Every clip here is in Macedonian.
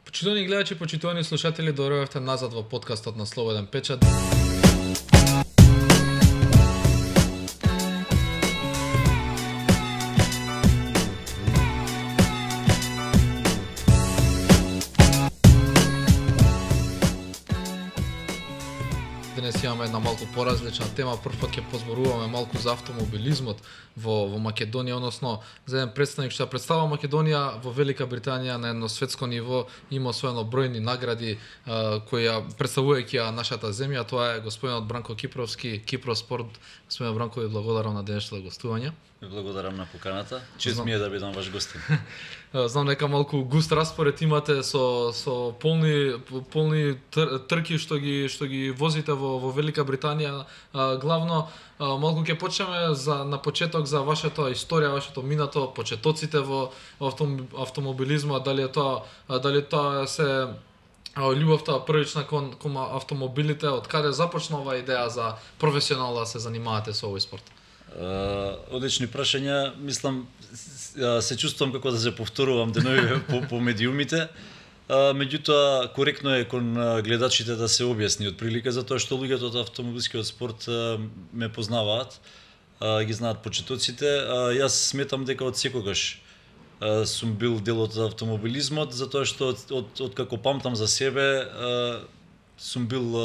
Почитувани гледачи, почитувани слушатели, доаѓавте назад во подкастот на Слободен печат. Денес имаме една малку поразлична тема. Првпат ќе позборуваме малку за автомобилизмот во Македонија, односно за еден представник што ја представува Македонија во Велика Британија на едно светско ниво, има освоено бројни награди кои ја представувајќи ја нашата земја. Тоа е господинот Бранко Кипровски, Кипроспорт. Господин Бранко, ви благодарам на денешното гостување. Ви благодарам на поканата. Чест ми е да бидам ваш гостин. Знам дека малку густ распоред имате со полни трки што ги возите во Велика Британија. Главно малку ќе почнеме на почеток за вашата историја, вашето минато, почетоците во автомобилизмот, дали тоа се љубовта првична кон автомобилите, од каде започна оваа идеја за професионално да се занимавате со овој спорт? Одлични прашања. Мислам, се чувствувам како да се повторувам денови по медиумите. Меѓутоа, коректно е кон гледачите да се објасни од прилика, затоа што луѓето од автомобилскиот спорт ме познаваат, ги знаат почетоците. Јас сметам дека од секогаш сум бил дел од автомобилизмот, затоа што од како памтам за себе сум бил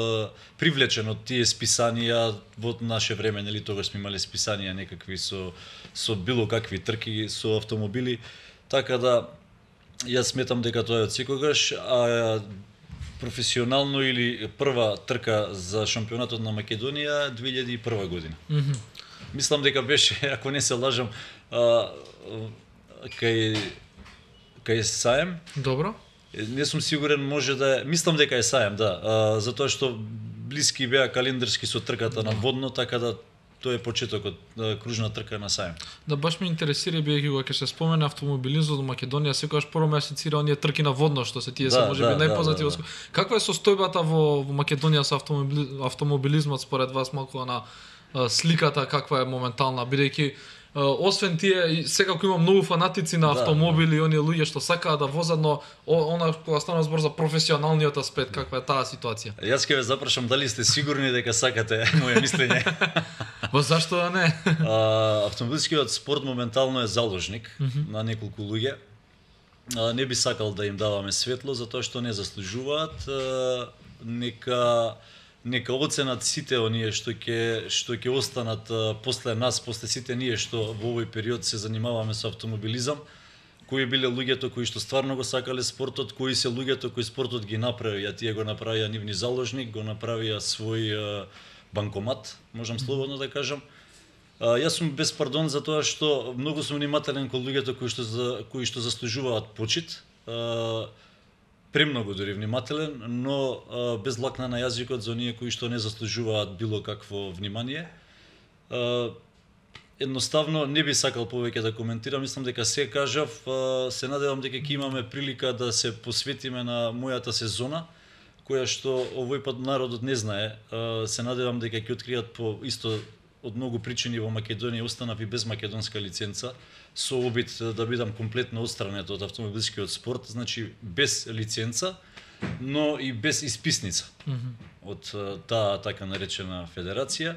привлечен од тие списанија во наше време, нели тогаш сме имале списанија некакви со било какви трки со автомобили, така да јас сметам дека тоа е од секогаш, а професионално или прва трка за шампионатот на Македонија 2001 година. Мислам дека беше, ако не се лажам, кај Саем. Добро. Не сум сигурен, може да е, мислам дека е Саем, да, затоа што блиски беа календарски со трката на водно, така да тоа е почетокот, кружна трка на Саем. Да, баш ме интересира, бидејќи кога ќе се спомене автомобилизмот во Македонија, секогаш прво ме асоцира оние трки на водно, што се тие се можеби најпознати. Каква е состојбата во Македонија со автомобилизмот според вас, малку на сликата каква е моментална, бидејќи освен тие, секако има многу фанатици на автомобили, оние луѓе што сакаат да возат, но она кога стана збор за професионалниот аспект, каква е таа ситуација? Јас ќе ве запрашам дали сте сигурни дека сакате моје мислење. Па зашто да не? Автомобилскиот спорт моментално е заложник на неколку луѓе. Не би сакал да им даваме светло затоа што не заслужуваат. Нека оценат сите оние што ќе останат после нас, после сите ние што во овој период се занимаваме со автомобилизам, кои биле луѓето кои што стварно го сакале спортот, кои се луѓето кои спортот ги направија, тие го направија нивни заложник, го направија свој банкомат, можам слободно да кажам. Јас сум без пардон за тоа што многу сум внимателен кон луѓето кои што заслужуваат почит. Премногу дури внимателен, но без лакна на јазикот за оние кои што не заслужуваат било какво внимание. Едноставно не би сакал повеќе да коментирам, мислам дека се кажав, се надевам дека ќе имаме прилика да се посветиме на мојата сезона, која што овој пат народот не знае. Се надевам дека ќе откријат по исто од многу причини во Македонија останав и без македонска лиценца, со обид да бидам комплетно отстранет од автомобилскиот спорт, значи без лиценца, но и без исписница од таа така наречена федерација.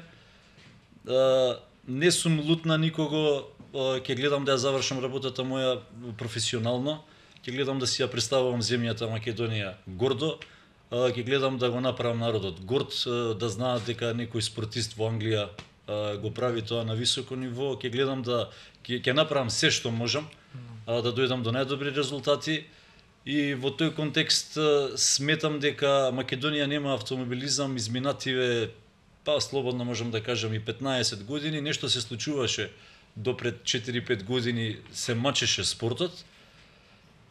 Не сум лут на никого, ќе гледам да ја завршам работата моја професионално, ќе гледам да си ја представувам земјата Македонија гордо, ќе гледам да го направам народот горд, да знаат дека некој спортист во Англија го прави тоа на високо ниво, ќе гледам да ќе направам се што можам да дојдам до најдобри резултати и во тој контекст сметам дека Македонија нема автомобилизам изминативе, па слободно можам да кажам и 15 години, нешто се случуваше до пред 4-5 години, се мачеше спортот,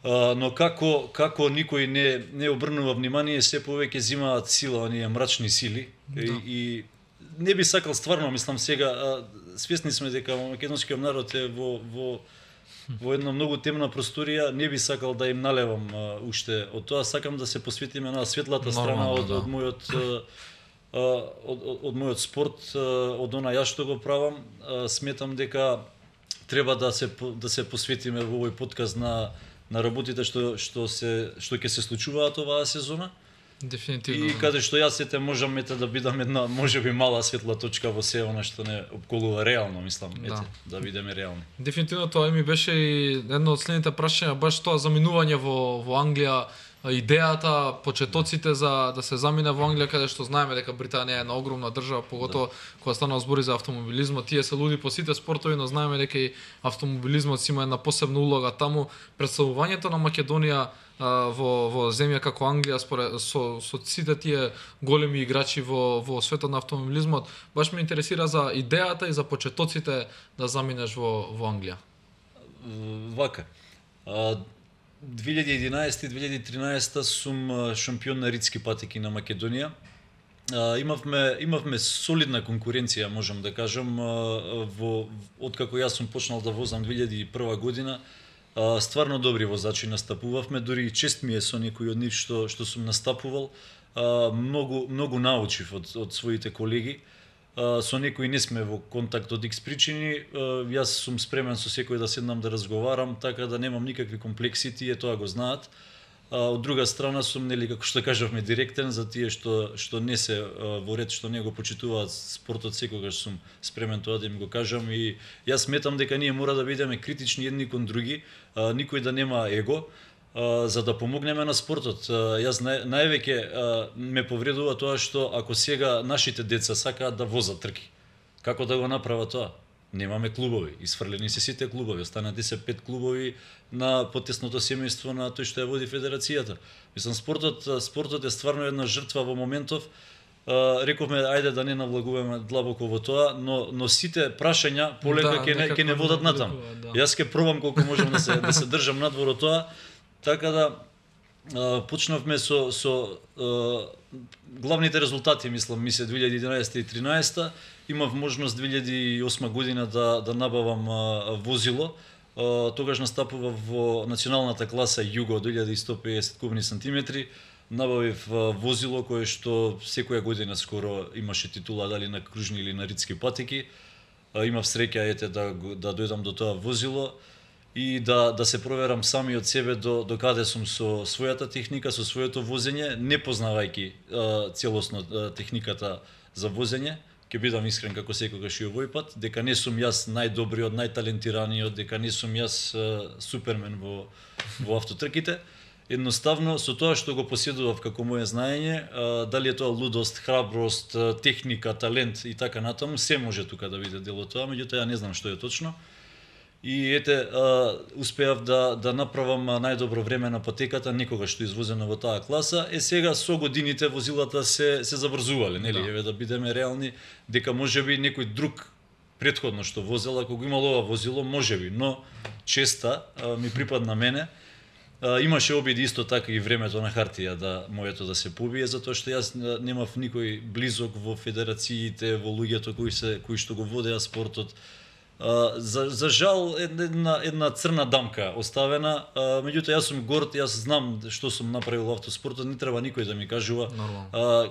но како никој не обрнува внимание, се повеќе зимаат сила оние мрачни сили и не би сакал стварно, мислам сега, свесни сме дека македонскиот народ е во една многу темна просторија, не би сакал да им налевам уште од тоа, сакам да се посветиме на светлата страна од мојот спорт, од она јас што го правам. Сметам дека треба да се посветиме во овој подкаст на на работите што ќе се случуваат оваа сезона. Дефинитивно. И каде што јас ете можам да бидам една можеби мала светла точка во се она што не опколува реално, мислам, да бидеме реални. Дефинитивно тоа ми беше и едно од следните прашања, баш тоа заминување во Англија, идејата, почетоците за да се замине во Англија, каде што знаеме дека Британија е една огромна држава, поготово кога станува збори за автомобилизмот, тие се луди по сите спортови, но знаеме дека и автомобилизмот си има една посебна улога таму. Представувањето на Македонија во земја како Англија со сите тие големи играчи во светот на автомобилизмот, баш ме интересира за идејата и за почетоците да заминеш во Англија. Вака. 2011-2013 сум шампион на ридски патеки на Македонија. Имавме солидна конкуренција, можам да кажам, откако јас сум почнал да возам 2001 година. Стварно добри возачи настапувавме, дури и чест ми е со некои од нив што сум настапувал. Многу научив од своите колеги. Со некои не сме во контакт од X причини. Јас сум спремен со секој да седнам да разговарам, така да немам никакви комплекси, тие тоа го знаат. Од друга страна сум, нели, како што кажавме, директен за тие што не се во ред, што не го почитуваат спортот, секогаш сум спремен тоа да им го кажам, и јас сметам дека ние мора да бидеме критични едни кон други, никој да нема его, за да помогнеме на спортот. Јас највеќе ме повредува тоа што ако сега нашите деца сакаат да возат трки, како да го направат тоа? Немаме клубови, исфрлени се сите клубови, останати се 5 клубови на потесното семејство на тој што ја води федерацијата. Мислам, спортот е стварно една жртва во моментов. Рековме ајде да не навлагуваме длабоко во тоа, но сите прашања полека ќе не водат натаму. Јас ќе пробам колку можам да се држам надвор од тоа, така да почнавме со главните резултати, мислам, 2011 и 2013. Имав можност 2008 година да набавам возило. Тогаш настапував во националната класа Југо 2150 кубни сантиметри. Набавив возило кое што секоја година скоро имаше титула, дали на кружни или на ридски патеки. Имав среќа да дојдам до тоа возило и да се проверам сами од себе до каде сум со својата техника, со своето возење, не познавајќи целосно техниката за возење. Ќе бидам искрен како секогаш и овој пат, дека не сум јас најдобриот, најталентираниот, дека не сум јас супермен во автотрките. Едноставно, со тоа што го поседував како моје знаење, дали е тоа лудост, храброст, техника, талент и така натаму, се може тука да биде дел од тоа, меѓутоа ја не знам што е точно. И успеав да направам најдобро време на патеката, никогаш што извозено во таа класа. Сега со годините возилата се заврзувале, нели? Еве да бидеме реални, дека можеби некој друг претходно што возел, ако го имал ова возило, можеби, но честа ми припадна мене. Имаше обиди исто така и времето на хартија моето да се побие, затоа што јас немав никој близок во федерациите, во луѓето кои што го водеа спортот. За жал една црна дамка оставена, меѓутоа јас сум горд, јас знам што сум направил во автоспортот, не треба никој да ми кажува.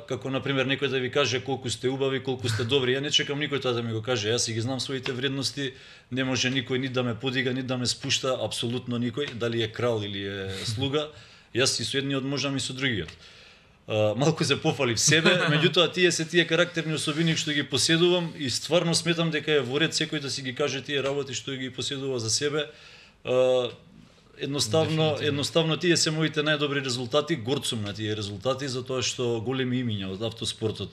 Како на пример некој да ви каже колку сте убави, колку сте добри, ја не чекам никој тоа да ми го каже, јас ги знам своите вредности, не може никој ни да ме подига, ни да ме спушта, апсолутно никој, дали е крал или е слуга, јас и со едниот можам и со другиот. Малку се пофалив себе, меѓутоа тие се тие карактерни особини што ги поседувам и стварно сметам дека е во ред секој да си ги каже тие работи што ги поседува за себе. Едноставно тие се моите најдобри резултати, горд сум на тие резултати затоа што големи имиња од автоспортот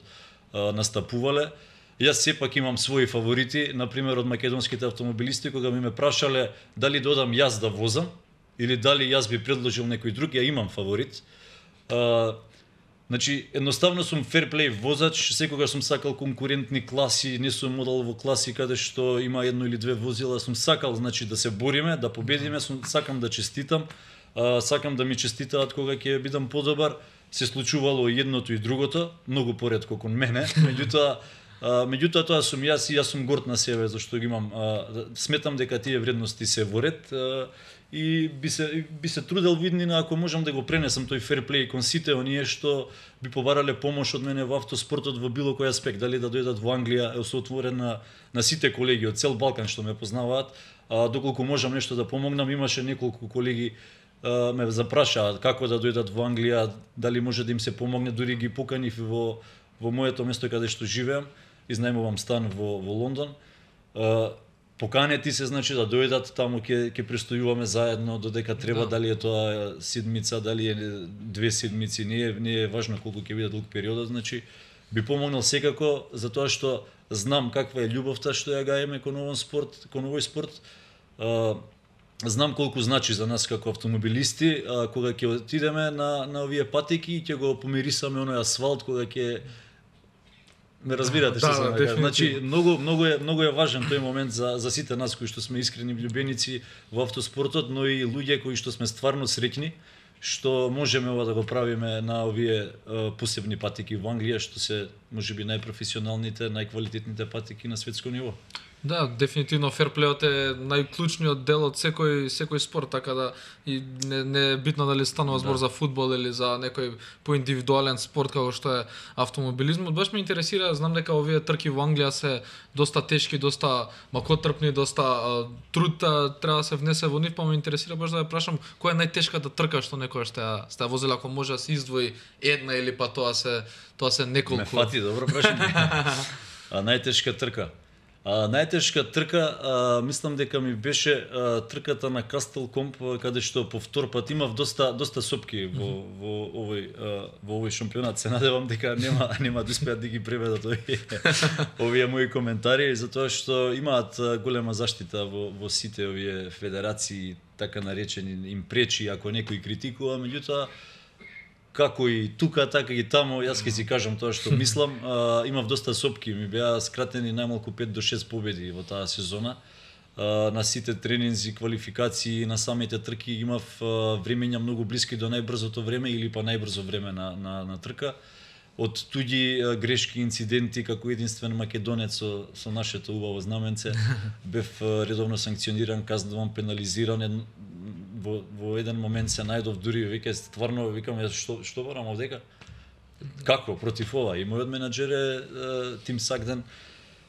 настапувале. Јас сепак имам своји фаворити, на пример од македонските автомобилисти, кога ме прашале дали додам јас да возам или дали јас би предложил некој друг, ја имам фаворит. Значи, едноставно сум ферплей возач, секогаш сум сакал конкурентни класи, не сум модел во класи каде што има едно или две возила, сум сакал, значи, да се бориме, да победиме, сакам да честитам, сакам да ми честитаат кога ќе бидам подобар. Се случувало и едното и другото, многу поретко кон мене, меѓутоа тоа сум јас и јас сум горд на себе зашто ги имам. Сметам дека тие вредности се во ред и би се трудел виднина ако можам да го пренесам тој ферплей кон сите оние што би побарале помош од мене во автоспортот во било кој аспект, дали да дојдат во Англија, се отворен на сите колеги од цел Балкан што ме познаваат, доколку можам нешто да помогнам. Имаше неколку колеги ме запрашаа како да дојдат во Англија, дали може да им се помогне, дури ги поканив во моето место каде што живеам, изнајмувам стан во Лондон. Поканети се, значи, да дојдат таму, ќе престојуваме заедно додека треба, дали е тоа седмица, дали е 2 седмици, не е важно колку ќе биде долг периодот, значи би помогнал секако, затоа што знам каква е љубовта што ја гаеме кон овој спорт. Знам колку значи за нас како автомобилисти, кога ќе отидеме на овие патеки и ќе го помирисаме оној асфалт, кога ќе ме разбирате што сакам да кажам. Значи многу е важен тој момент за сите нас кои што сме искрени љубеници во автоспортот, но и луѓе кои што сме стварно среќни што можеме ова да го правиме на овие посебни патеки во Англија, што се можеби најпрофесионалните, најквалитетните патеки на светско ниво. Да, дефинитивно ферплеот е најклучниот дел од секој спорт, така да и не е битно дали станува збор за фудбал или за некој поиндивидуален спорт како што е автомобилизмот. Баш ме интересира, знам дека овие трки во Англија се доста тешки, доста макотрпни, доста труд треба да се внесе во нив, па ме интересира баш да ја прашам која е најтешката трка што некоја сте возела, ако може да се издвои една или па тоа се неколку. Ме фати, добро прашање. Најтешка трка. Најтешка трка, мислам дека ми беше трката на Кастел Комп, каде што по втор пат имав доста сопки во овој шампионат. Се надевам дека нема да успеат да ги преведат овие мои коментари, затоа што имаат голема заштита во сите овие федерации, така наречени, им пречи ако некој критикува, меѓутоа како и тука, така и таму, јас ќе си кажам тоа што мислам. Имав доста сопки, ми беа скратени најмалку 5 до 6 победи во таа сезона. На сите тренинзи, квалификации, на самите трки имав времења многу блиски до најбрзото време или па најбрзо време на трка. Од туѓи грешки, инциденти, како единствен македонец со нашето убаво знаменце, бев редовно санкциониран, казнуван, пенализиран. Во еден момент се најдов дури, веќе стварно викам што барам овдека? Како против ова? И мојот менаџер е Тим Сагден.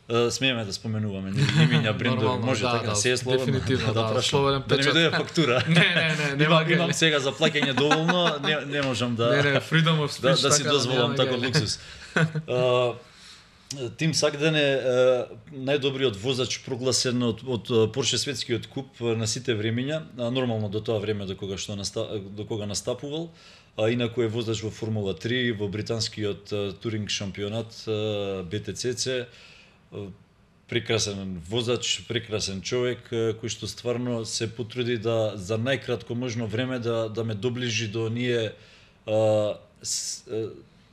Смееме да споменуваме имиња, брендови, може така се е слободно да прашам. Да не ми дојде фактура. Не, имам сега за плаќање доволно, не можам да freedom of speech, да си дозволам таков луксус. Тим Сагден е најдобриот возач прогласен од Порше светскиот куп на сите времења, нормално до тоа време до кога настапувал, а инаку е возач во Формула 3, во британскиот туринг шампионат BTCC. Прекрасен возач, прекрасен човек кој што стварно се потруди да за најкратко можно време да ме доближи до ние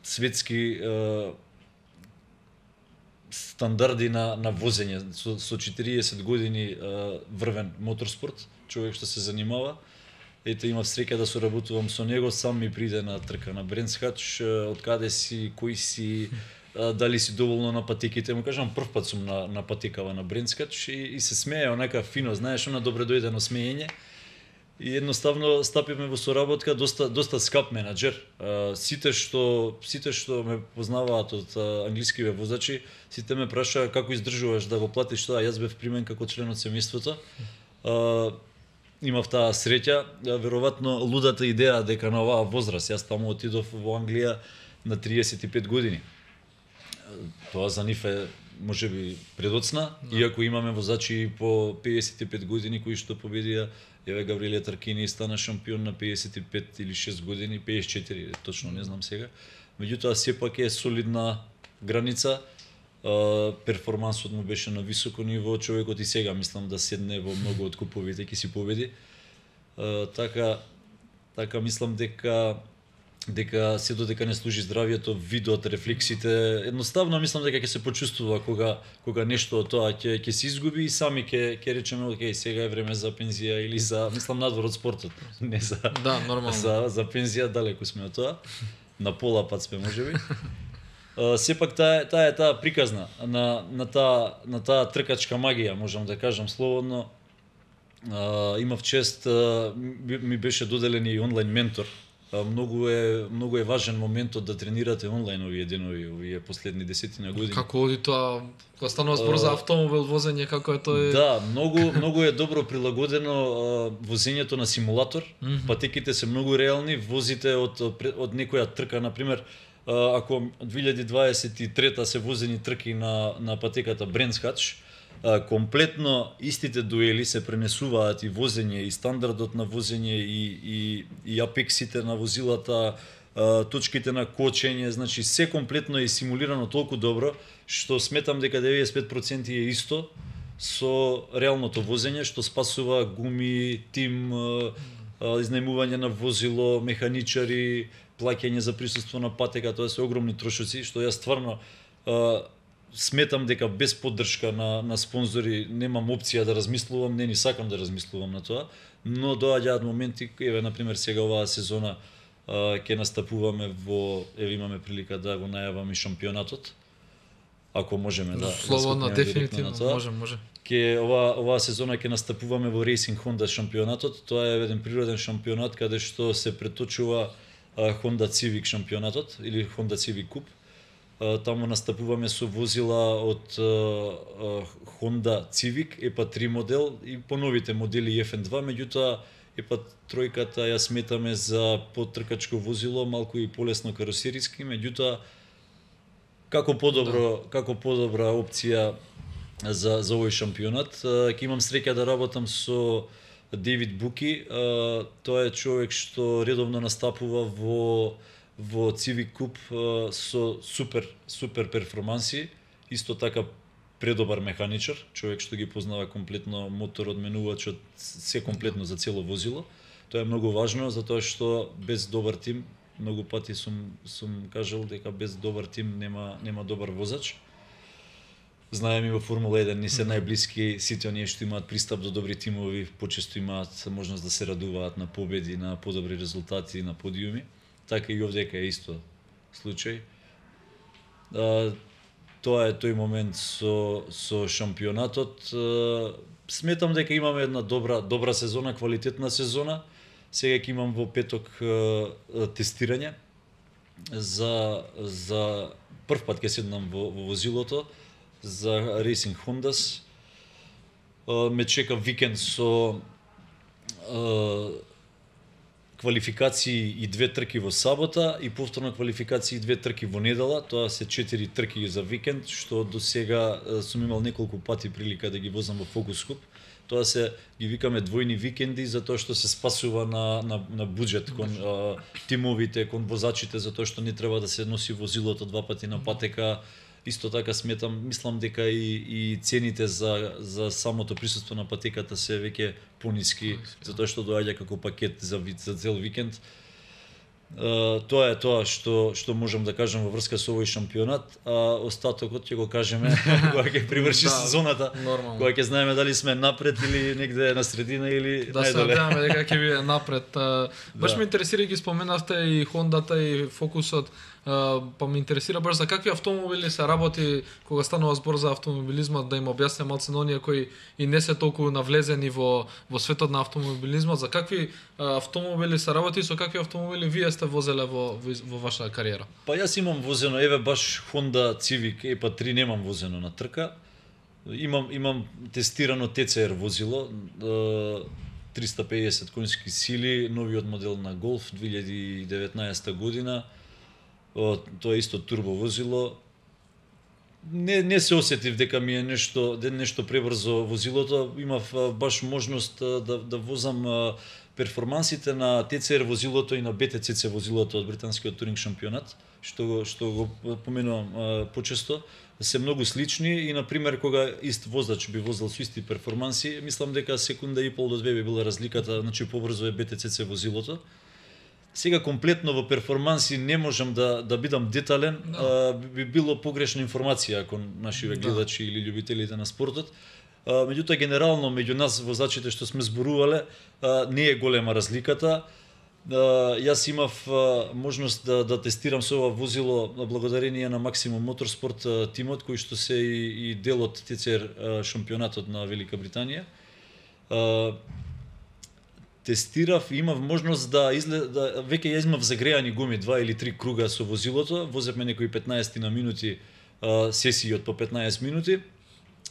светски стандарди на возење. Со 40 години врвен моторспорт, човек што се занимава. Ете, имав среќа да соработувам со него, сам ми приде на трка на Брендс Хач, од каде си, кој си, дали си доволно на патеките. Му кажам, прв пат сум на патекава на Брендс Хач и се смее онака фино, знаеш, она добре дојдено смеење. И едноставно стапивме во соработка, доста скап менаџер. Сите што ме познаваат од англискиве возачи, сите ме прашаа како издржуваш да го платиш тоа. Јас бев примен како член од семејството. Имав таа среќа, веројатно лудата идеја дека на оваа возраст, јас таму отидов во Англија на 35 години. Тоа за нив е можеби предоцна, иако имаме возачи по 55 години кои што победија. Еве Гавриле Таркини стана шампион на 55 или 6 години, 54, точно не знам сега. Меѓутоа сепак е солидна граница. Перформансот му беше на високо ниво, човекот и сега мислам да седне во многу од куповите ќе си победи. Така мислам дека се додека не служи здравието, видот, рефлексите, едноставно мислам дека ќе се почувствува кога нешто од тоа ќе се изгуби и сами ќе речеме окей, сега е време за пензија или за, мислам, надвор од спортот, не за нормално. За пензија, далеку сме од тоа. На пола пат сме можеби. Сепак таа приказна на таа тркачка магија, можам да кажам слободно. Имав чест, ми беше доделен и онлайн ментор многу е важен моментот да тренирате онлайн овие денови, овие последни 10 години. Како оди тоа, кога станува збор за автомобил возење, како е тоа? Да, многу е добро прилагодено возењето на симулатор. Патеките се многу реални, возите од некоја трка, на пример, ако 2023 се возени трки на патеката Brands Hatch, комплетно истите дуели се пренесуваат и возење, и стандардот на возење, и апексите на возилата, точките на кочење, значи се комплетно е симулирано толку добро, што сметам дека 95% е исто со реалното возење, што спасува гуми, тим, изнајмување на возило, механичари, плаќање за присуство на патека, тоа се огромни трошоци, што ја стварно сметам дека без поддршка на спонзори немам опција да размислувам, не ни сакам да размислувам на тоа, но доаѓаат моменти, еве на пример сега оваа сезона ќе настапуваме имаме прилика да го најаваме шампионатот. Ако можеме да слободно, дефинитивно може. Оваа сезона ќе настапуваме во Racing Honda шампионатот. Тоа е еден природен шампионат каде што се преточува Honda Civic шампионатот или Honda Civic Cup. Таму настапуваме со возила од Honda Civic EPA 3 модел и поновите модели FN2, меѓутоа EPA тројката ја сметаме за потркачко возило, малку и полесно каросериски, меѓутоа како подобра опција за овој шампионат. Ќе имам среќа да работам со Дейвид Буки. Тоа е човек што редовно настапува во Civic Cup со супер перформанси, исто така предобар механичар, човек што ги познава комплетно моторот, менувачот, се комплетно за цело возило. Тоа е многу важно, затоа што без добар тим, многу пати сум кажал дека без добар тим нема добар возач. Знаеме и во Формула 1 не се најблиски, сите оние што имаат пристап до добри тимови, почесто имаат можност да се радуваат на победи, на подобри резултати, на подиуми. Така и овдека е исто случај. Тоа е тој момент со шампионатот. Сметам дека имаме една добра сезона, квалитетна сезона. Сега ќе имам во петок тестирање за прв пат ќе седнам во возилото за Racing Hondas. Ме чека викенд со квалификации и 2 трки во сабота и повторно квалификации и 2 трки во недела. Тоа се 4 трки за викенд, што до сега сум имал неколку пати прилика да ги возам во Focus Cup. Тоа се ги викаме двојни викенди затоа што се спасува на буџет кон тимовите, кон возачите, затоа што не треба да се носи возилото 2 пати на патека. Исто така мислам дека и цените за самото присуство на патеката се веќе пониски, затоа што доаѓа како пакет за цел викенд. Тоа е тоа што можам да кажам во врска со овој шампионат, а остатокот ќе го кажеме кога ќе приврши сезоната, кога ќе знаеме дали сме напред или негде на средина или најдоле. Да се надеваме дека ќе биде напред. Баш ме интересира, ги споменавте и Хондата и Фокусот, па ме интересира баш за какви автомобили се работи кога станува збор за автомобилизмот, да им објасне малце на оние кои и не се толку навлезени во светот на автомобилизмот, за какви автомобили се работи и со какви автомобили вие сте возеле во вашата кариера? Па јас имам возено, еве баш Honda Civic EPA 3 немам возено на трка. Имам тестирано TCR возило, 350 конски сили, новиот модел на Golf 2019 година. Тоа е исто турбо возило. Не се осетив дека ми е нешто пребрзо возилото. Имав баш можност да возам перформансите на TCR возилото и на BTCC возилото од британскиот туринг шампионат, што го поменувам почесто, се многу слични и на пример кога ист возач би возел со исти перформанси, мислам дека секунда и пол до 2 би била разликата, значи побрзо е BTCC возилото. Сега комплетно во перформанси не можам да бидам детален, би било погрешна информација кон нашиве гледачи или љубителите на спортот. Меѓутоа генерално меѓу нас возачите што сме зборувале не е голема разликата. Јас имав можност да тестирам со ова возило благодарение на Maximum Motorsport тимот кој што се и дел од TCR шампионатот на Велика Британија. тестирав и имав можност да веќе ја имав загреани гуми 2 или 3 круга со возилото, возевме некои 15 на минути сесии од по 15 минути.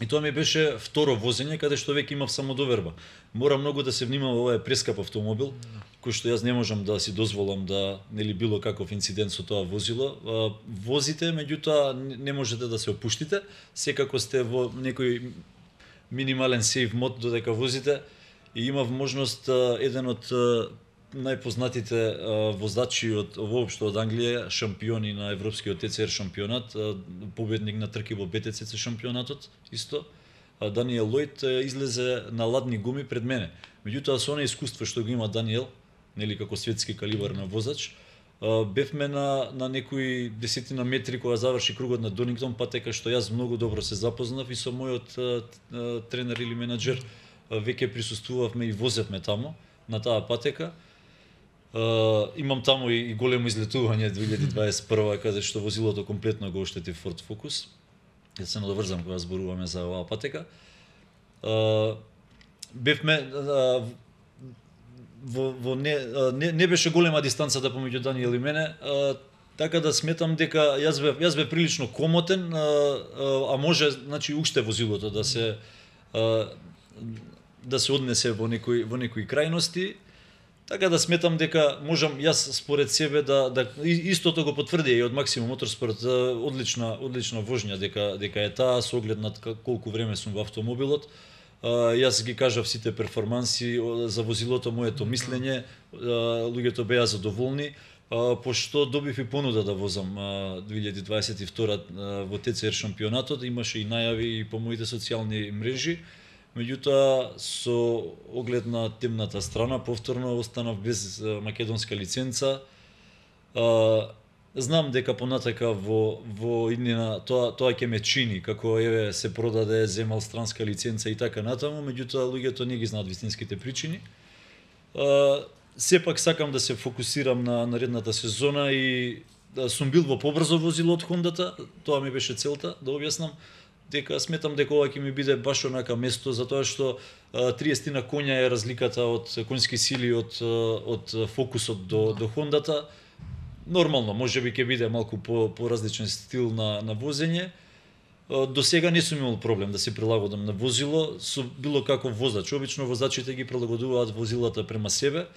И тоа ми беше второ возење каде што веќе имав самодоверба. Мора многу да се внимава, ова е прескап автомобил, кој што јас не можам да си дозволам да нели било каков инцидент со тоа возило. Возите, меѓутоа не можете да се опуштите, секако сте во некој минимален сейф мод додека возите. И имав можност еден од најпознатите возачи од воопшто од Англија, шампиони на европскиот ТЦР шампионат, победник на трки во БТЦЦ шампионатот исто, Даниел Лојд излезе на ладни гуми пред мене. Меѓутоа со она искуство што го има Даниел, нели како светски калибар на возач, бевме на некои десетина метри кога заврши кругот на Донингтон, па така што јас многу добро се запознав и со мојот тренер или менаџер веќе присуствувавме и возевме таму на таа патека. Имам таму и големо излетување 2021 каде што возилото комплетно го оштети Ford Focus. Ја се надоврзам кога зборуваме за оваа патека. Бевме не беше голема дистанцата помеѓу Даниел и мене, така да сметам дека јас бев прилично комотен, а може значи уште возилото да се однесе во некои крајности. Така да сметам дека можам јас според себе да истото го потврди и од Максимум Моторспорт, одлична вожња дека е таа со оглед на колку време сум во автомобилот. Јас ги кажав сите перформанси за возилото, моето мислење, луѓето беа задоволни, пошто добив и понуда да возам 2022 во ТЦР шампионатот, имаше и најави и по моите социјални мрежи. Меѓутоа, со оглед на темната страна, повторно останав без македонска лиценца. Знам дека понатака во иднина тоа ќе ме чини, како еве се продаде, земал странска лиценца и така натаму, меѓутоа луѓето не ги знаат вистинските причини. Сепак сакам да се фокусирам на наредната сезона и сум бил во побрзо возило од Хондата, тоа ми беше целта, да објаснам. Дека сметам дека ова ќе ми биде баш онака место, затоа што 30 на коња е разликата од конски сили од Фокусот до Хондата. Нормално, можеби ќе биде малку по различен стил на возење. До сега не сум имал проблем да се прилагодам на возило со било каков возач. Обично возачите ги прилагодуваат возилата према себе.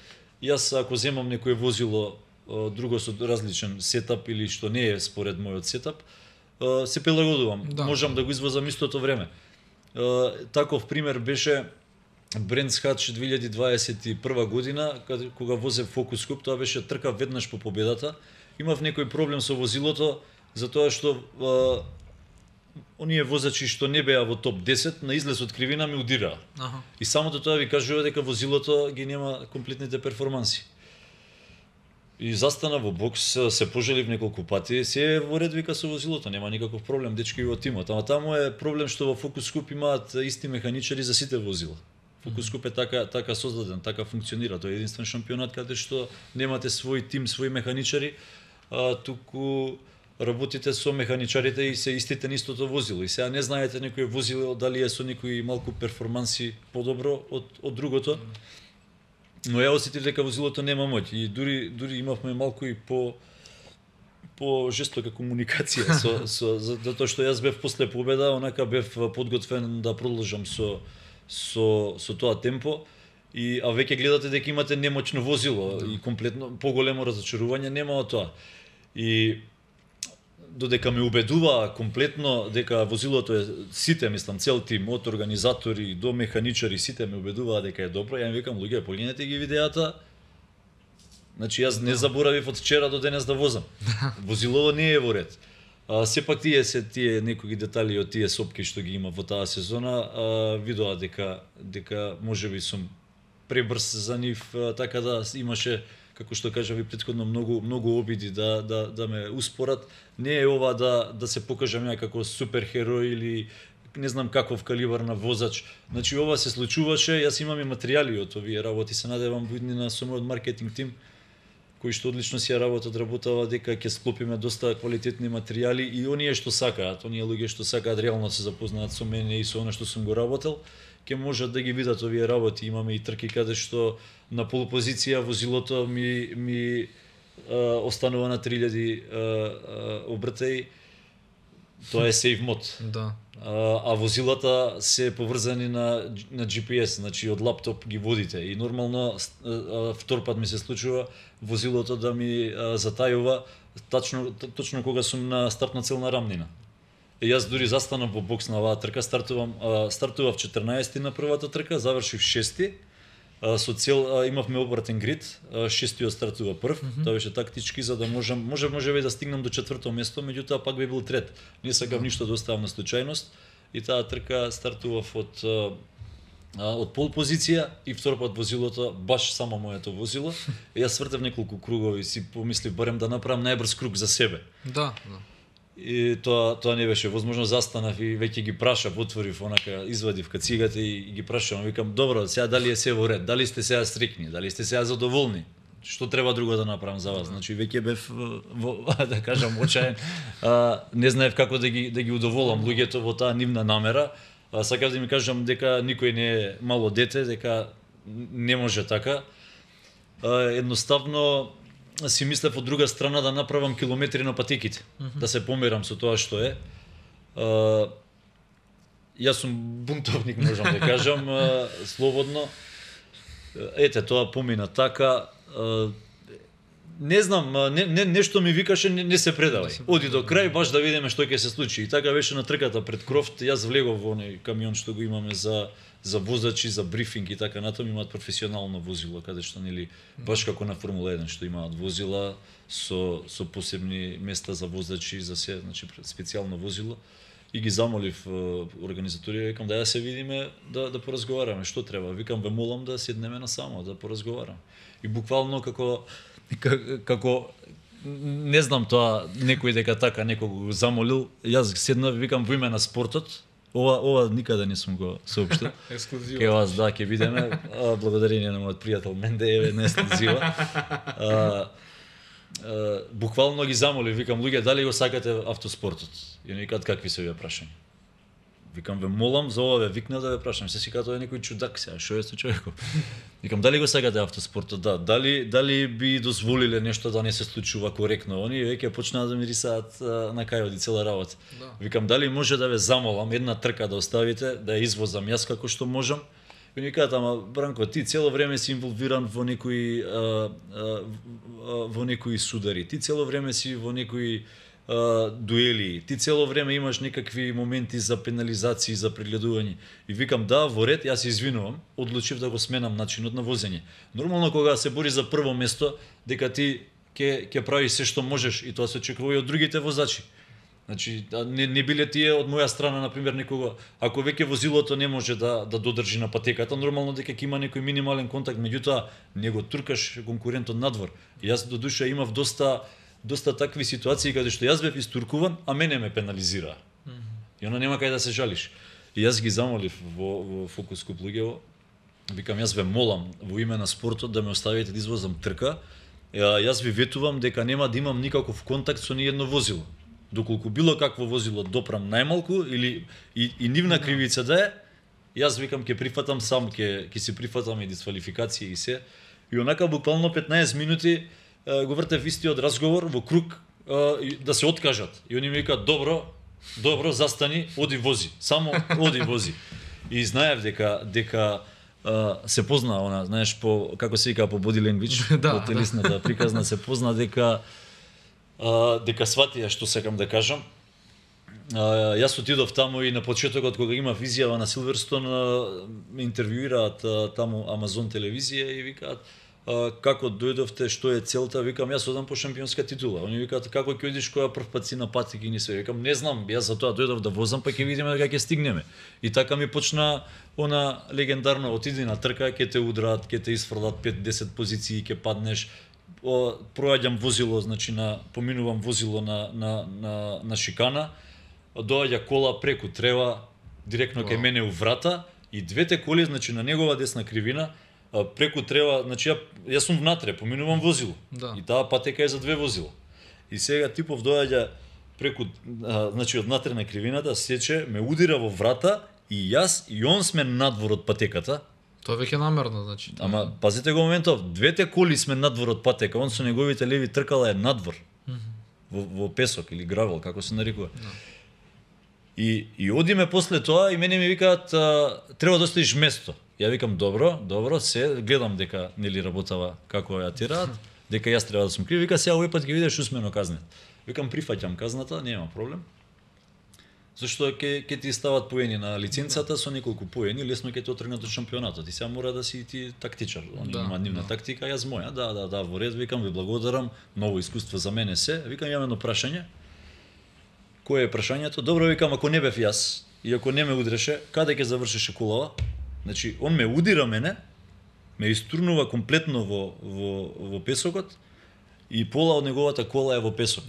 Јас ако земам некое возило друго со различен сетап или што не е според мојот сетап, се прилагодувам. Да. Можам да го извозам истото време. Таков пример беше Брендс Хач 2021 година, кога возев Focus Cup, тоа беше трка веднаш по победата. Имав некој проблем со возилото, затоа што оние возачи што не беа во топ 10, на излез од кривина ми удираа. И самото тоа ви кажува дека возилото ги нема комплетните перформанси. И застана во бокс, се пожалив неколку пати, се во ред вика со возилото, нема никаков проблем, дечки во тимот. Ама таму е проблем што во Focus Cup имаат исти механичари за сите возила. Focus Cup е така создаден, така функционира. Тој е единствен шампионат каде што немате свој тим, свои механичари, туку работите со механичарите и се истите на истото возило. И сега не знаете некој возило дали е со некои малку перформанси подобро од другото. Но ја осетив дека возилото нема моќ и дури имавме малку и по жестока комуникација затоа што јас бев после победа, онака бев подготвен да продолжам со тоа темпо а веќе гледате дека имате немоќно возило и комплетно поголемо разочарување нема од тоа. И додека ме убедува комплетно дека возилото е сите, мислам, цел тим, од организатори до механичари, сите ме убедуваа дека е добро, ја им викам, луѓе, погледнете ги видеата. Значи јас не заборавив од вчера до денес да возам. Возилово не е во ред. Сепак тие некои детали од тие сопки што ги има во таа сезона, видоа дека можеби сум пребрз за нив, така да имаше, како што кажа ви претходно, многу обиди да ме успорат. Не е ова да се покажам ја како суперхерој или не знам каков калибар на возач. Значи ова се случуваше, јас имам и материјали од овие работи, се надевам буднина со мојот маркетинг тим кои што одлично си ја работава дека ќе склопиме доста квалитетни материјали и оние што сакаат, оние луѓе што сакаат реално се запознаат со мене и со она што сум го работел, ќе можат да ги видат овие работи. Имаме и трки каде што на полупозиција возилото ми останува на 3000 обртаи. Тоа е сейф мод. Да. А возилата се поврзани на GPS, значи од лаптоп ги водите. И нормално втор пат ми се случува возилото да ми затајува точно кога сум на стартна целна рамнина. И јас дури застанав во бокс на оваа трка, стартував 14 на првата трка, завршив 6. Со цел имавме обратен грид, 6-тиот стартува прв, тоа беше тактички за да можеме да стигнам до 4-то место, меѓутоа пак би бил трет. Не сакав ништо да оставам на случајност и таа трка стартував од пол позиција и втор пат возилото баш само моето возило. И јас свртев неколку кругови и си помислив барем да направам најбрз круг за себе. Да. И тоа не беше возможно, застанав и веќе ги прашав, отворив онака, извадив кацигата и ги прашав, викам добро, сега дали е се во ред, дали сте сега стрикни, дали сте сега задоволни? Што треба друго да направам за вас? Значи веќе бев да кажам очаен, не знаев како да ги удоволам луѓето во таа нивна намера. Сакав да ми кажам дека никој не е мало дете, дека не може така. Едноставно си мислев од друга страна да направам километри на патеките, да се померам со тоа што е. Јас сум бунтовник, можам да кажам, слободно. Ете, тоа помина така. Не знам, нешто ми викаше не се предавај. Оди до крај, баш да видиме што ќе се случи. И така беше на трката пред Крофт. Јас влегов во оној камион што го имаме за возачи, за брифинг и така натаму, имаат професионално возило, каде што нели баш како на Формула 1 што имаат возила со посебни места за возачи, за се, значи специјално возило. И ги замолив организаторија, викам да ја се видиме, да поразговараме што треба. Викам ве молам да седнеме насамо, да поразговараме. И буквално како не знам тоа некој дека така некого го замолил, јас седнав, викам во име на спортот. Ова никаде не сум го соопштил. Ексклузива. Ке вас да, ќе видиме. Благодарение на мојот пријател Менде, еве на ексклузива. Буквално ги замолив, викам луѓе, дали го сакате автоспортот? И они викаат какви се вие прашања. Викам ве молам, за ова ве викнав да ве прашам. Се си кажа тоа е некој чудак сега, што е со човекот? Викам дали го сакате автоспортот? Да, дали би дозволиле нешто да не се случува коректно? Они веќе почнаа да ми рисаат на кај оди цела работа. Да. Викам дали може да ве замолам една трка да оставите, да ја извозам јас како што можам? И ми кажат, ама Бранко, ти цело време си инволвиран во некои судари, ти цело време си во некои дуели, ти цело време имаш некакви моменти за пенализации, за прегледување. И викам да, во ред, јас се извинувам, одлучив да го сменам начинот на возење. Нормално кога се бори за прво место, дека ти ќе правиш се што можеш и тоа се очекува и од другите возачи. Значи, не биле тие од моја страна, например, некого, ако веќе возилото не може да додржи на патеката, нормално дека ќе има некој минимален контакт, меѓутоа не го туркаш конкурентот надвор. И јас до душа имав доста такви ситуации каде што јас бев истуркуван, а мене ме пенализираа. И она нема кај да се жалиш. И јас ги замолив во Фокус Клуб луѓево, викам јас ве молам во име на спортот да ме оставите да извозам трка. Јас ви ветувам дека нема да имам никаков контакт со ни едно возило. Доколку било какво возило допрам најмалку или и нивна кривица да е, јас викам ќе прифатам сам, ќе си прифатам и дисквалификација и се. И онака буквално 15 минути го вртев истиот разговор во круг да се откажат. И они ми викаат добро, застани, оди вози. Само оди вози. И знаев дека се позна она, знаеш, како се вика по body language, по телесната приказна се позна дека сватија што сакам да кажам. Јас отидов таму и на почетокот кога имав изјава на Силверстон, ме интервјуираат таму Амазон телевизија и викаат како дојдовте, што е целта? Викам јас одам по шампионска титула. Они викаат како ќе одиш која прв пат си на патеки и не се. Викам не знам, јас за тоа дојдов да возам, па ќе видиме дека ќе стигнеме. И така ми почна она легендарно отиди на трка, ќе те удраат, ќе те исфрлат 5-10 позиции, ќе паднеш. Проаѓам возило, значи поминувам возило на шикана, доаѓа кола преку трева директно кај мене у врата и двете коли, значи на негова десна кривина преку трева, значи јас сум внатре, поминувам возило. Да. И таа патека е за две возила. И сега типов доаѓа преку, значи од внатре на кривината, сече, ме удира во врата и јас и он сме надвор од патеката. Тоа веќе намерно, значи. Ама пазите го моментов, двете коли сме надвор од патека, он со неговите леви тркала е надвор. Во песок или гравел, како се нарекува. И одиме после тоа и мене ми викаат треба да оставиш место. Ја викам добро, се гледам дека нели работава како ја тираат, дека јас треба да сум крив. Вика сега овој пат ќе видиш усмено казнет. Викам прифаќам казната, нема проблем. Зашто ќе ти стават поени на лиценцата со неколку поени, лесно ќе те отргнат од шампионатот. И сега мора да си ти тактичар. Он има нивна тактика, јас моја. Да, во ред, викам, ви благодарам, ново искуство за мене се. Викам, имам едно прашање. Кое е прашањето? Добро, викам, ако не бев јас и ако не ме удреше, каде ќе завршеше колава? Значи, он ме удира мене, ме истурнува комплетно во песокот и пола од неговата кола е во песок.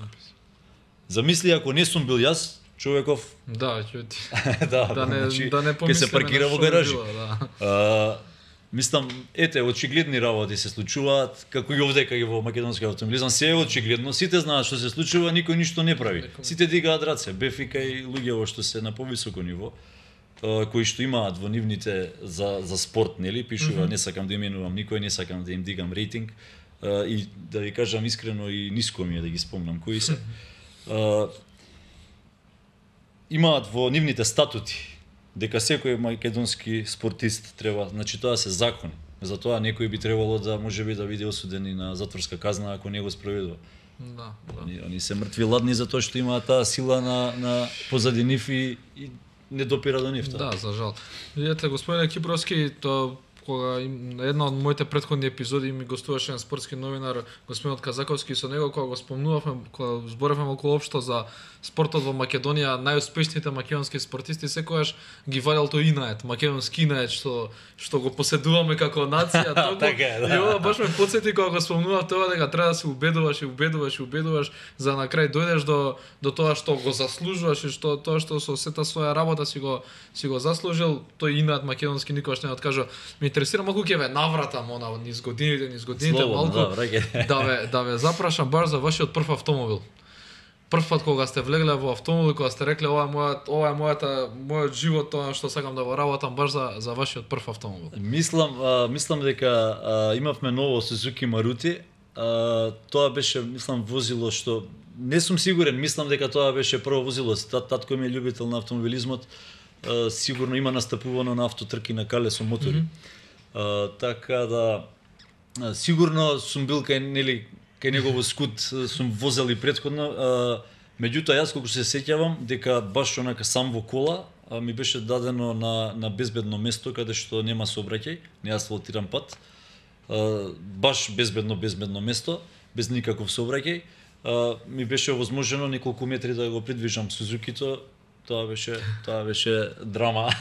Замисли, ако не сум бил јас, човеков... Да, ќе значи, да не ќе се паркира во гаражи. Да. Мислам, ете, очигледни работи се случуваат, како и овдека и во македонски автомобилизам, се е очигледно, сите знаат што се случува, никој ништо не прави. Сите дигаат раце, бефика и луѓе што се на повисоко ниво, кои што имаат во нивните за спорт, нели, пишува, не сакам да именувам никој, не сакам да им дигам рейтинг, и да ви кажам искрено и ниско ми е да ги спомнам кои се. Имаат во нивните статути дека секој македонски спортист треба, значи тоа се закон. Затоа некој би требало да можеби да биде осуден и на затворска казна ако не го спроведува. Да. Они се мртви ладни затоа што имаат таа сила на позади нив и не допира до нив. Да, за жал. Видете, господине Кипровски, тоа кога една од моите претходни епизоди ми гостуваше на спортски новинар господинот Казаковски, со него кога го спомнувавме, кога зборевме околу општо за спортот во Македонија, најуспешните македонски спортисти секогаш ги валел тој инает, македонски инает што го поседуваме како нација, тоа. И ова баш ме потсети кога го спомнував тоа дека треба да се убедуваш за на крај дојдеш до тоа што го заслужуваш и тоа што со сета своја работа си го заслужил, тој инает македонски никогаш не откажа. Ме интересира малку ќе ве навратам низ годините малку да ве запрашам баш за вашиот прв автомобил. Прв пат кога сте влегле во автомобил, кога сте рекле ова е мојот живот, тоа што сакам да го работам баш за вашиот прв автомобил. Мислам дека имавме ново Suzuki Maruti. Тоа беше, мислам, возило што не сум сигурен, мислам дека тоа беше прво возило. Татко ми е љубител на автомобилизмот. Сигурно има настапувано на автотрки на кале со мотори. Така да сигурно сум бил кај негово скут, сум возел и претходно. Меѓутоа јас колку се сеќавам дека баш онака сам во кола ми беше дадено на безбедно место каде што нема сообраќај, не асфалтиран пат. Баш безбедно место, без никаков сообраќај. Ми беше овозможено неколку метри да го придвижам Сузукито. Тоа беше драма.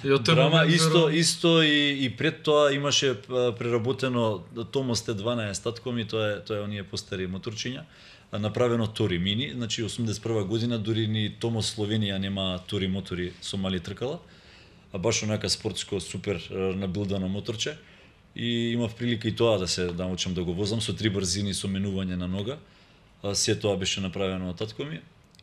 Драма исто и пред тоа имаше преработено Томос Т12 татко ми, тоа е оние постари моторчиња, направено Тори Мини, значи 81 година дури ни Томос Словенија нема Тори мотори со мали тркала, а баш онака спортско супер набилдано моторче и имав прилика и тоа да научам да го возам со 3 брзини со менување на нога. Се тоа беше направено од татко ми.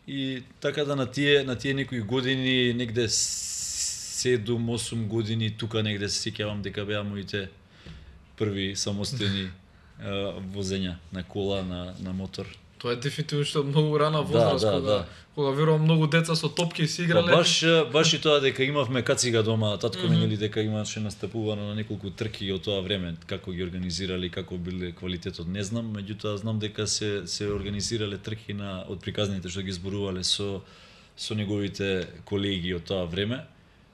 И така да на тие некои години, негде 7-8 години, тука негде се сеќавам дека беа моите први самостојни возења на кола, на мотор. Тоа е дефинитивно што многу рана возраст, кога верувам многу деца со топки си играле. Баш и тоа дека имавме кацига дома, татко ми нели дека имаше настапувано на неколку трки од тоа време, како ги организирали, како биле квалитетот, не знам, меѓутоа знам дека се организирале трки од приказните што ги зборувале со неговите колеги од тоа време.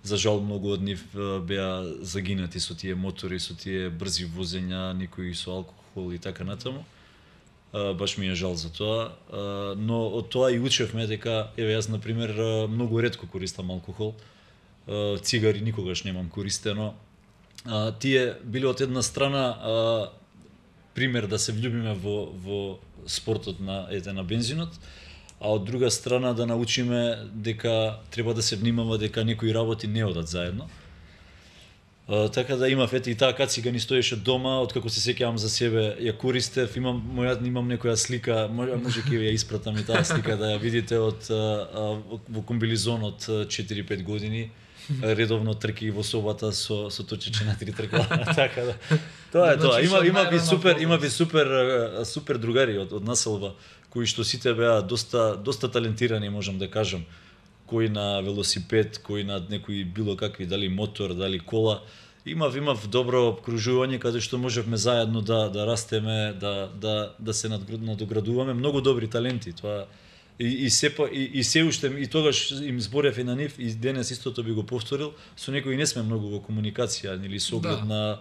За жал многу од нив беа загинати со тие мотори, со тие брзи возења, некои со алкохол и така натаму. Баш ми е жал за тоа, но од тоа и учевме дека, еве јас например многу ретко користам алкохол, цигари никогаш немам користено. Тие биле од една страна пример да се влюбиме во спортот на бензинот, а од друга страна да научиме дека треба да се внимава дека некои работи не одат заедно. Така да имав и таа кацига ни стоеше дома, откако се сеќавам за себе ја користев, имам некоја слика, може ќе ја испратам и таа слика да ја видите во комбилизон од 4-5 години. редовно трки во собата со точече на 3 тркала. Така да. Тоа е тоа. Значи, Има ви супер другари од населба кои што сите беа доста талентирани, можам да кажам. Кој на велосипед, кој на некои било какви, дали мотор, дали кола. Имав добро обкружување каде што можевме заедно да растеме, да се надоградуваме, многу добри таленти. Тоа и се уште и тогаш им зборев и на нив и денес истото би го повторил, со некои не сме многу во комуникација или со оглед на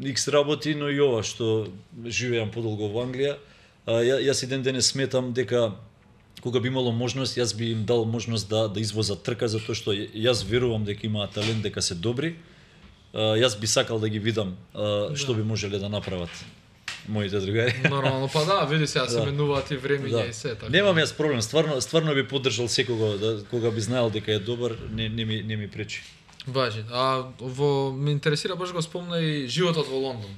X работи, но и ова што живеам подолго во Англија. Јас и денес сметам дека кога би имало можност, јас би им дал можност да извозат трка, затоа што јас верувам дека имаат талент, дека се добри. Јас би сакал да ги видам што би можеле да направат моите другари. Нормално, па да, види се, се менуваат и времења и се така. Немам јас проблем, стварно би поддржал секого кога би знаел дека е добар, не ми пречи. Важи. Ме интересира, баш го спомна и животот во Лондон.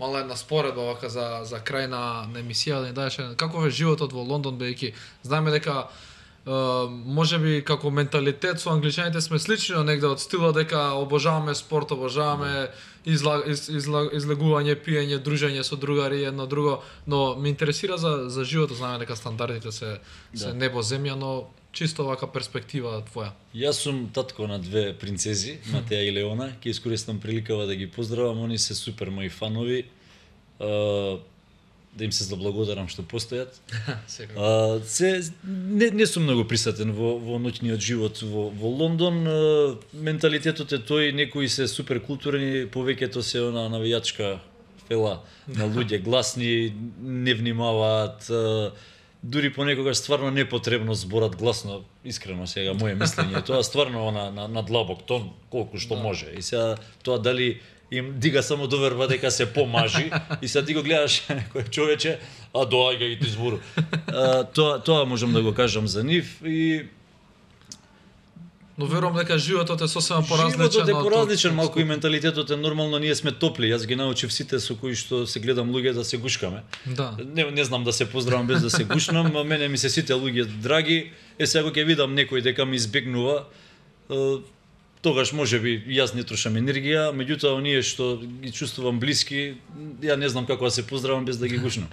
Мала една споредба вака за крај на емисија да ни даеше каков е животот во Лондон, бејќи знаеме дека можеби како менталитет со англичаните сме слични, но негде од стилот дека обожаваме спорт, обожаваме излегување, пиење, дружење со другари едно друго, но ме интересира за животот, знаеме дека стандардите се небо земја, но чисто вака перспектива твоја. Јас сум татко на 2 принцези, Матеја и Леона, ќе искористам приликава да ги поздравам, они се супер мои фанови. Да им се заблагодарам што постојат. Не сум многу присатен во ноќниот живот во Лондон. Менталитетот е тој, некои се супер културни, повеќето се она навијачка фела на луѓе, гласни, не внимаваат, дури понекогаш стварно непотребно зборат гласно, искрено сега моје мислење. Тоа стварно на длабок тон, колку што може. И сега тоа дали им дига само доверба дека се помажи и сега ти го гледаш некој човече, доаѓа и ти збору. Тоа можам да го кажам за нив и но верувам дека животот е сосема поразличен. Животот е поразличен, малку и менталитетот е нормално, ние сме топли. Јас ги научив сите со кои што се гледам луѓе да се гушкаме. Да. Не знам да се поздравам без да се гушнам, мене ми се сите луѓе драги. Сега ќе видам некој дека ми избегнува, тогаш можеби јас не трошам енергија, меѓутоа оние што ги чувствувам блиски, ја не знам како да се поздравам без да ги гушнам.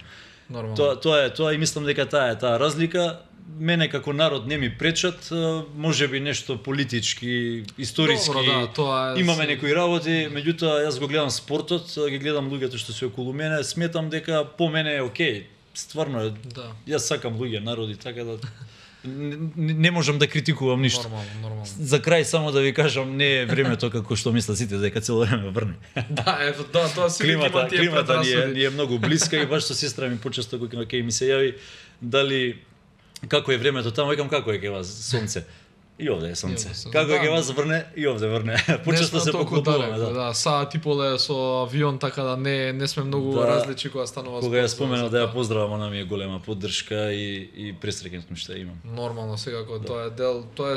Нормално. Тоа и мислам дека таа разлика. Мене како народ не ми пречат, можеби нешто политички, историски. Добро, тоа имаме некои работи, меѓутоа јас го гледам спортот, ги гледам луѓето што се околу мене, сметам дека по мене е окей. Стварно е. Да. Јас сакам луѓе, народи, така да не можам да критикувам ништо. Нормално. За крај само да ви кажам, не е времето како што мислат сите дека цело време врне. Тоа си климата ни е многу блиска и баш со сестра ми почесто кога ќе ми се јави дали како е времето таму, викам како е ке вас сонце. И овде е сонце. Како е ке вас врне, и овде врне. Почесто се поклопуваме, да. Саат и поле со авион, така да не сме многу различни кога станува спорт. Кога ја споменав да ја поздравам, она ми е голема поддршка и пресреќен сум што ја имам. Нормално, секако тоа е дел, тоа е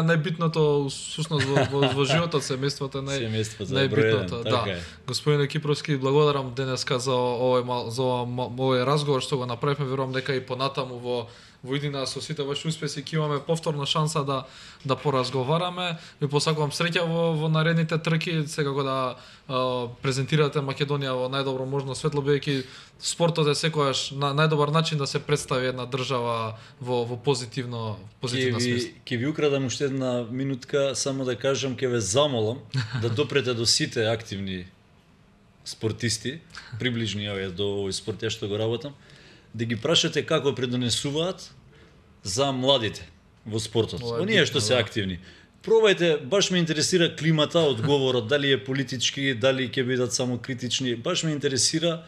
најбитното всушност во животот, семејството е најбитното, да. Господине Кипровски, благодарам денеска за овој разговор што го направивме, верувам дека и понатаму во иднина со сите ваши успеси ќе имаме повторна шанса да поразговараме. Ви посакувам среќа во наредните трки, секако да презентирате Македонија во најдобро можно светло, бидејќи спортот е секогаш на најдобар начин да се представи една држава во позитивна смисла. Ќе ви украдам уште една минутка, само да кажам, ќе ве замолам да допрете до сите активни спортисти, приближни до овој спорт ја што го работам, да ги прашате како предонесуваат за младите во спортот. Оние што се активни. Пробајте, баш ме интересира климата, одговорот, дали е политички, дали ќе бидат само критични. Баш ме интересира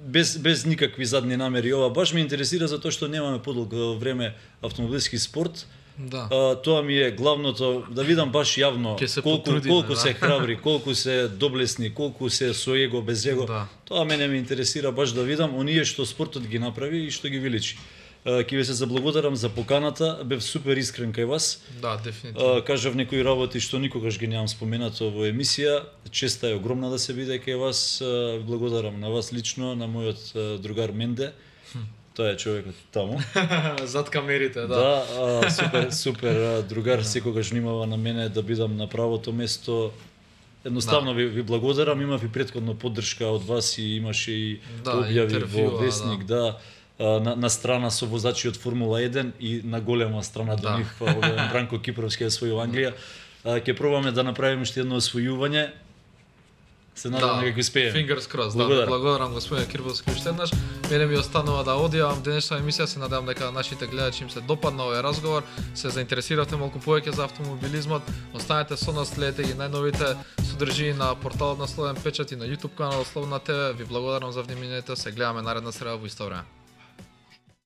без никакви задни намери ова. Баш ме интересира затоа што немаме подолго време автомобилски спорт. Да. Тоа ми е главното, да видам баш јавно колку се храбри, колку се доблесни, колку се со его, без его. Да. Тоа мене ме интересира баш да видам оние што спортот ги направи и што ги величи. Ќе ви се заблагодарам за поканата, бев супер искрен кај вас. Да, дефинитивно. Кажав некои работи што никогаш ги немам споменато во емисија. Честа е огромна да се биде кај вас. Благодарам на вас лично, на мојот другар Менде. Тоа е човекот таму. Зад камерите, да. Да, супер другар, секогаш внимава на мене да бидам на правото место. Едноставно ви благодарам, имав и претходно поддршка од вас и имаше и објави во Весник, на страна со возачи од Формула 1 и на голема страна до нив Бранко Кипровски освоил Англија. Ќе пробаме да направиме уште едно освојување. Се надевам дека ќе успееме. Fingers crossed. Благодарам господине Кирбовски уште еднаш. Мене ми останува да одјавам денешна емисија, се надевам дека нашите гледачи им се допадна овој разговор, се заинтересиравте малку повеќе за автомобилизмот. Останете со нас, следете ги најновите содржини на порталот на Слободен печат и на YouTube каналот Слободна ТВ. Ви благодарам за вниманието, се гледаме наредна среда во исто време.